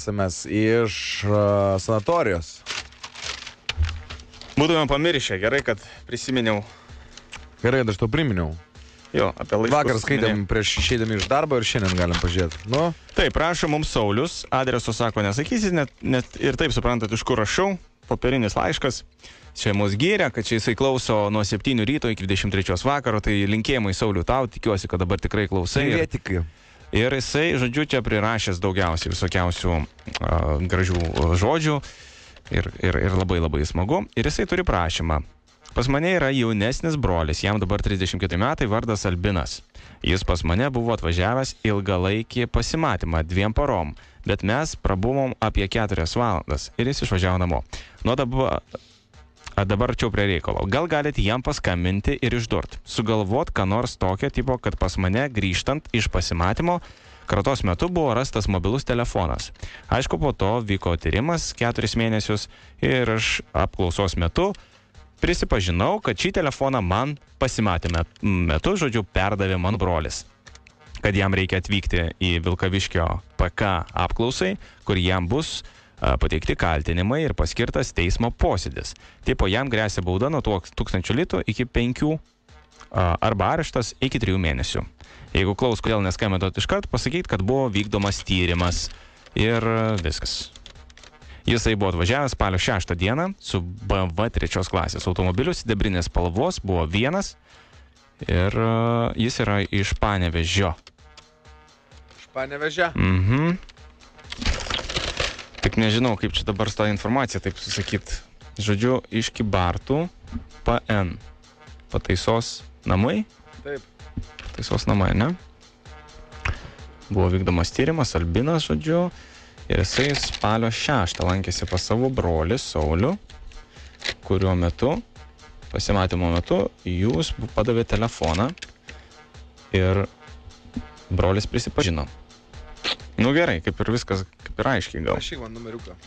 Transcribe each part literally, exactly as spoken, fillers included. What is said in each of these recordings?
S M S iš uh, sanatorijos. Būtume pamiršę, gerai, kad prisiminiau. Gerai, kad aš to priminiau. Jo, apie laiškus. Vakar skaitėm prieš išeidami iš darbo ir šiandien galim pažiūrėti. Nu? Taip, prašo mums Saulius, adreso sako nesakysit, net, net ir taip suprantat, iš kur rašau, popierinis laiškas. Čia mus gyrė, kad čia jisai klauso nuo septynių ryto iki dvidešimt trečios vakaro, tai linkėjimai Sauliu tau, tikiuosi, kad dabar tikrai klausai. Ir, ir jisai, žodžiu, čia prirašęs daugiausiai visokiausių uh, gražių žodžių ir, ir, ir labai labai smagu. Ir jisai turi prašymą. Pas mane yra jaunesnis brolis, jam dabar trisdešimt keturi metai, vardas Albinas. Jis pas mane buvo atvažiavęs ilgalaikį pasimatymą dviem parom, bet mes prabuvom apie keturias valandas ir jis išvažiavo namo. Nu dabar, dabar čia prie reikalo. Gal galite jam paskambinti ir išdurt, sugalvot, ką nors tokio tipo, kad pas mane grįžtant iš pasimatymo kratos metu buvo rastas mobilus telefonas. Aišku, po to vyko tyrimas keturis mėnesius ir aš apklausos metu prisipažinau, kad šį telefoną man pasimatėme metu, žodžiu, perdavė mano brolis. Kad jam reikia atvykti į Vilkaviškio P K apklausai, kur jam bus a, pateikti kaltinimai ir paskirtas teismo posėdis. Tipo jam grėsia bauda nuo tūkstančio litų iki penkių a, arba areštas iki trijų mėnesių. Jeigu klaus, kodėl neskambinot iškart, pasakyti, kad buvo vykdomas tyrimas ir viskas. Jisai buvo atvažiavęs spalio šeštą dieną su B M W trečios klasės automobiliu, sidabrinės spalvos, buvo vienas ir uh, jis yra iš Panevėžio. Iš Panevėžio? Mhm. Tik nežinau, kaip čia dabar tą informaciją taip susakyt. Žodžiu, iš Kybartų P N. Pataisos namai? Taip. Pataisos namai, ne? Buvo vykdomas tyrimas, Albinas, žodžiu. Ir jisai spalio šeštą lankėsi pas savo brolį Saulių, kuriuo metu, pasimatymo metu, jūs padavė telefoną ir brolis prisipažino. Nu gerai, kaip ir viskas, kaip ir aiškiai gal. Aš man numeriuką.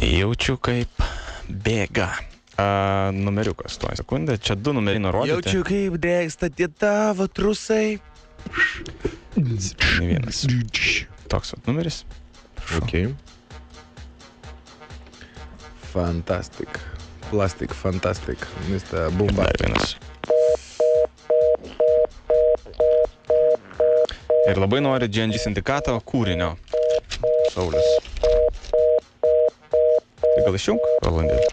Jaučiu, kaip bėga. A, numeriukas, tuoj sekundę, čia du numeriai nurodyti. Jaučiu, kaip degsta tie tavo trusai. Ne vienas. Toks vat numeris. Ok. Fantastic. Plastic, fantastic. Mister Bumba. Dar vienas. Ir labai nori G N G sindikato kūrinio. Saulius. Tai gal išjunk, Rolandėlį?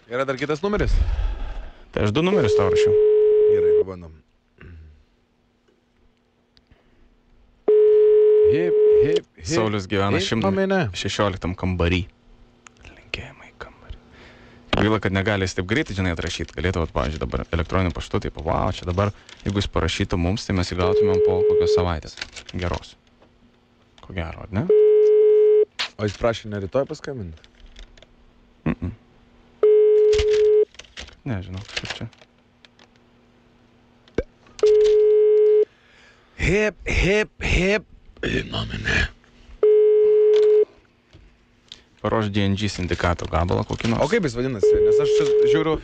Yra dar kitas numeris? Tai aš du numerius tau rašiau. Gerai, pabandom. Hip, hip, hip. Saulius gyvena hip, šimtas šešioliktam kambarį. Linkėjimai kambarį. Gaila, kad negali jis taip greitai, žinai, atrašyti. Galėtų, pavyzdžiui, dabar elektroniniu paštu, taip, wow, čia dabar, jeigu jis parašytų mums, tai mes įgautumėm po kokios savaitės. Geros. Ko gero, ar ne? O jis prašė ne rytoj paskambinti? Mm-mm. Nežinau, kaip čia. Hip, hip, hip. Įnomine. Paruoš G N G sindikato gabalą kokį nors. O kaip jis vadinasi? Nes aš čia žiūriu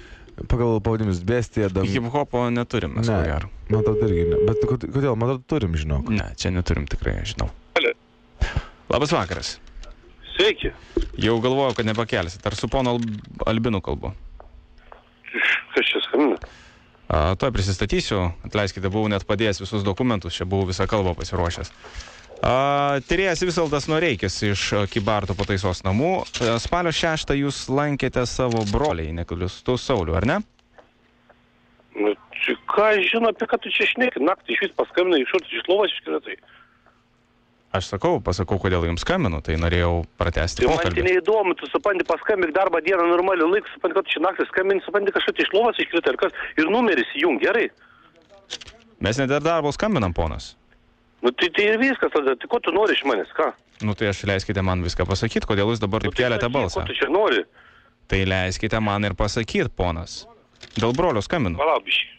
pagal pavadinimus Bestija. Dam... Hip-hopo neturim, mes ko gero. Man atrodo irgi ne. Bet kodėl? Man atrodo turim, žinok. Ne, čia neturim tikrai, žinau. Labas vakaras. Sveiki. Jau galvojau, kad nepakelsit. Ar su pono Albinu kalbu? Kas čia skambina? A, toj prisistatysiu. Atleiskite, buvau net padėjęs visus dokumentus. Čia buvau visą kalbą pasiruošęs. A, tyrėjas Visvaldas Noreikis iš Kybartų pataisos namų. A, spalio šeštą jūs lankėte savo broliai, nekliustų Saulių, ar ne? Nu, ką aš žinau, apie ką tu čia šneki? Naktį iš vis paskambinai, iš kur iš lovos iškretai. Aš sakau, pasakau, kodėl jums skambinu, tai norėjau pratęsti Tai man tai pokalbį. neįdomu, tu supranti, paskambink darbą dieną normalių laikų, supranti, kad čia naktį skambini, supranti, kažkas iš lovos iškrito ir kas, ir numeris įjung, gerai. Mes net ir darbo skambinam, ponas. Nu tai, tai ir viskas tada, tai ko tu nori iš manęs, ką? Nu tai aš leiskite man viską pasakyti, kodėl jūs dabar taip Nu, tai keliate sakyk, balsą. Ko tu čia nori? Tai leiskite man ir pasakyti, ponas. Dėl brolio skambinu. Palaubiškai.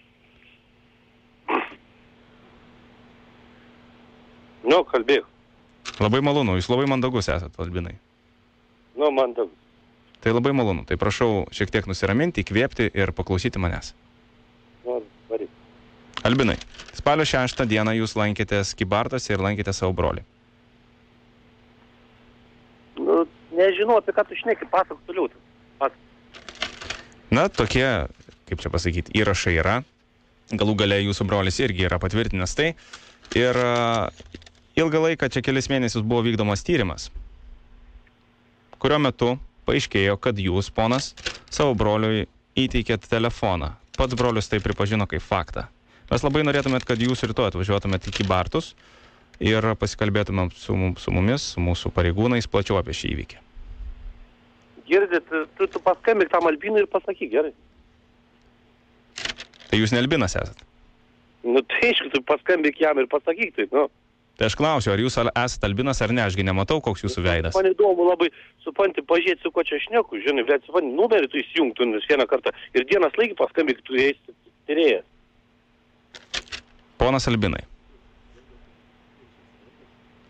Nu, kalbėk. Labai malonu, jūs labai mandagus esat, Albinai. Nu, man daug. Tai labai malonu, tai prašau šiek tiek nusiraminti, įkvėpti ir paklausyti manęs. Nu, varyk. Albinai, spalio šeštą dieną jūs lankėtės Kybartuose ir lankėte savo brolį. Nu, nežinau, apie ką tu šneki, pasakok toliau. Na, tokie, kaip čia pasakyti, įrašai yra. Galų gale jūsų brolis irgi yra patvirtinęs tai. Ir uh, ilgą laiką, čia kelis mėnesius buvo vykdomas tyrimas, kurio metu paaiškėjo, kad jūs, ponas, savo broliui įteikėt telefoną. Pats brolius tai pripažino kaip faktą. Mes labai norėtumėt, kad jūs rytoj atvažiuotumėt į Kybartus ir pasikalbėtumėm su, su mumis, su mūsų pareigūnais, plačiau apie šį įvykį. Girdit, tu, tu paskambik tam Albinui ir pasakyk, gerai. Tai jūs ne Albinas esat? Nu, tai aišku, tu paskambik jam ir pasakyk taip, nu. Tai aš klausiu, ar jūs esat Albinas ar ne, ašgi nematau, koks jūsų veidas. Man įdomu labai, supranti, pažiūrėti, su ko čia šneku, žinai, bet supranti, numerį tu įsijungtų vieną kartą ir dienas laikį paskambik, tu esi tyrėjas. Ponas Albinai,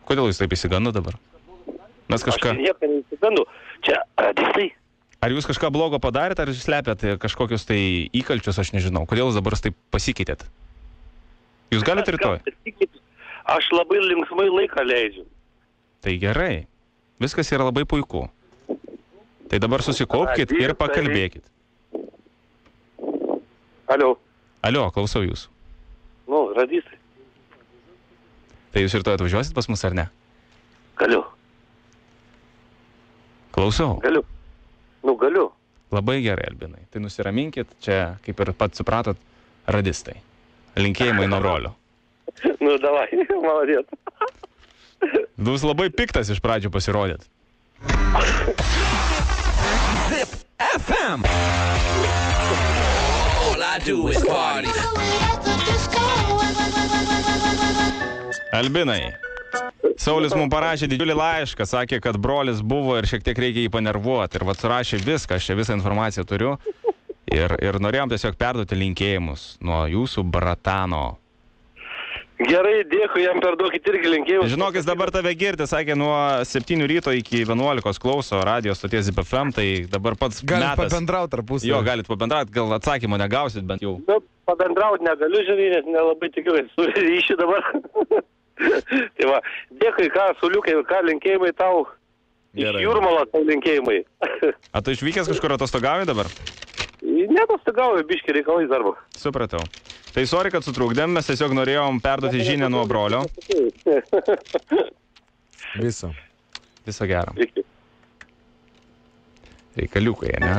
kodėl jūs taip įsigandu dabar? Mes kažką... Aš nieko neįsigandu. Čia, radistai. Ar jūs kažką blogo padarėte, ar jūs slepiat kažkokius tai įkalčius, aš nežinau. Kodėl jūs dabar taip pasikeitėt? Jūs galite rytoj? Aš labai linksmai laiką leidžiu. Tai gerai. Viskas yra labai puiku. Tai dabar susikaupkit ir pakalbėkit. Alio. Alio, klausau jūsų. Nu, radistai. Tai jūs rytoj atvažiuosit pas mus ar ne? Galiu. Klausau. Galiu. Nu, galiu. Labai gerai, Albinai. Tai nusiraminkit, čia, kaip ir pats supratot, radistai. Linkėjimai nuo brolio. Nu, davai, maladėt. Jūs labai piktas iš pradžių pasirodėt. Zip F M. All I do is party. Albinai, Saulis mums parašė didžiulį laišką, sakė, kad brolis buvo ir šiek tiek reikia jį panervuoti. Ir vat surašė viską, aš čia visą informaciją turiu. Ir, ir norėjom tiesiog perduoti linkėjimus nuo jūsų bratano. Gerai, dėkui, jam perduokit irgi linkėjimus. Žinok, jis dabar tave girdi, sakė, nuo septynių ryto iki vienuolikos klauso radijos stoties Zip F M, tai dabar pats Galit metas. pabendrauti tarpusavy. Jo, galit pabendrauti, gal atsakymą negausit, bent jau. Nu, pabendrauti negaliu, žinai, nes nelabai tikiuosi su ryšiu dabar. Tai va, dėkui, ką, Suliukai, ką linkėjimai tau. Gerai. Iš Jūrmalo tau linkėjimai. A tu išvykęs kažkur atostogauji dabar? Netostogauju, biški reikalais darbo. Supratau. Tai sorry, kad sutrukdėm, mes tiesiog norėjom perduoti žinią nuo brolio. Viso. Viso gero. Iki. Reikaliukai, ne?